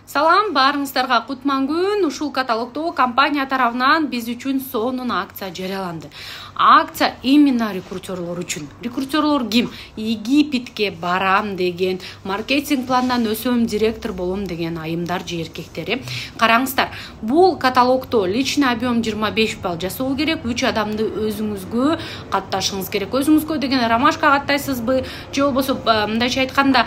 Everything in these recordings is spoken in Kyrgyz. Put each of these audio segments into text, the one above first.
Салам, баарыңыздарга кутман күн. Ушул каталогдо компания тарабынан биз үчүн сонун акция жарыяланды. Акция именно рекрутерлор үчүн. Рекрутерлор ким? Египетке барам деген, маркетинг пландан өсөм, директор болом деген айымдар же эркектер. Караңыздар, бул каталогдо личный объем 25 балл жасоо керек. 3 адамды өзүңүзгө катташыңыз керек. Өзүңүзгө деген ромашка каттайсызбы, же болбосо мындайча айтканда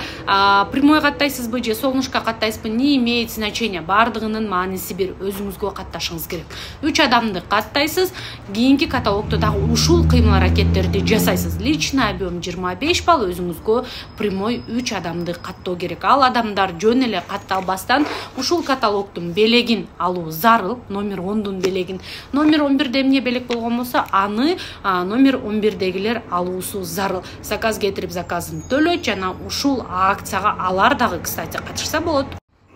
прямой каттайсызбы, же солнышко каттайсызбы, не имеет значения. Бардыгынын мааниси бир, өзүңүзгө катташыңыз керек. 3 адамды каттайсыз, кийинки каталогдо дагы ушул кыймыл-аракеттерди жасайсыз. Личный объем 25 балл, өзүңүзгө прямой 3 адамды каттоо керек. Ал адамдар жөн эле катталбастан ушул каталогдун белегин алуу зарыл, номер 10дун белегин. Номер 11де эмне белек болгон болсо, аны номер 11дегилер алуусу зарыл. Заказ кетирип заказын төлөйт жана ушул акцияга алар дагы, кстати, катышса болот.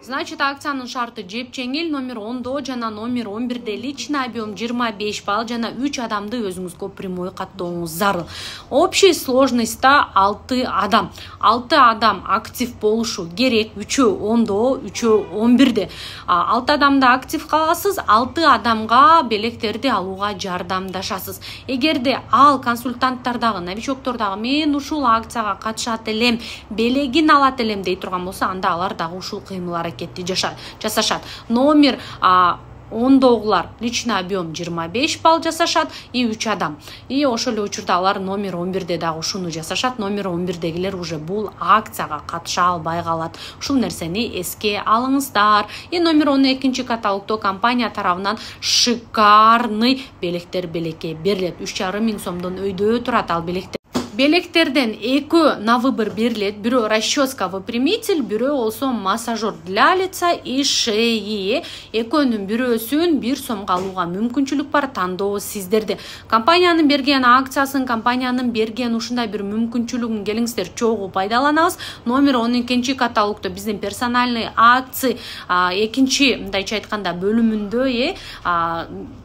Значит, акциянын шарты жепчеңил. Номер 10до жана номер 11де личный объем 25 балл жана 3 адамды өзүңүзгө прямой каттооңуз зарыл. Общий сложностьта 6 адам. 6 адам актив болушу керек. 3-өө 10до, 3-өө 11де. 6 адамды актив кыласыз, 6 адамга белектерди алууга жардамдашасыз. Эгерде ал консультанттар дагы, новичоктор дагы мен ушул акцияга катышат элем, белегин алат элем дей турган болсо, анда алар дагы ушул кыймыл-аракетти жасашат. Номер 10догулар личный объем 25 балл жасашат и 3 адам. И ошол эле учурда алар номер 11де дагы ушуну жасашат. Номер 11дегилер уже бул акцияга катыша албай калат. Ушул нерсени эске алыңыздар. И номер 12 каталогдо компания тарабынан шикарный белектер белекке берилет. 3,5 миң сомдон өйдө турат ал белектер. Белектерден 2 на выбор берилет. Бирөө расческа выпрямитель, бирөө болсо массажер для лица и шеи. Экөөнүн бирөөсүн 1 сомго алууга мүмкүнчүлүк бар, тандоо сиздерде. Компаниянын берген акциясын, компаниянын берген ушундай бир мүмкүнчүлүгүн келиңиздер чогуу пайдаланабыз. Номер 12 каталогдо биздин персональный акция экинчи, мындайча айтканда, бөлүмүндө,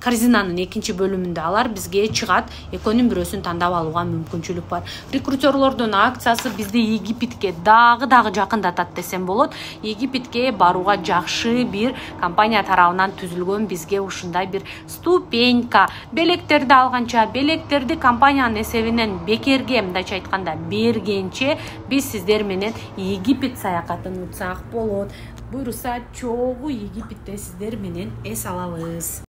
корзинанын экинчи бөлүмүндө алар бизге чыгат. Экөөнүн бирөөсүн тандап алууга мүмкүнчүлүк бар. Рекрутерлордун акциясы бизди Египетке дагы жакындатат десем болот. Египетке барууга жакшы бир компания тарабынан түзүлгөн бизге ушундай бир ступенька. Белектерди алганча, белектерди компаниянын эсебинен бекерге, мындайча айтканда, бергенче биз сиздер менен Египет саякатын утсак болот. Буюрса чогуу Египетте сиздер менен эс алабыз.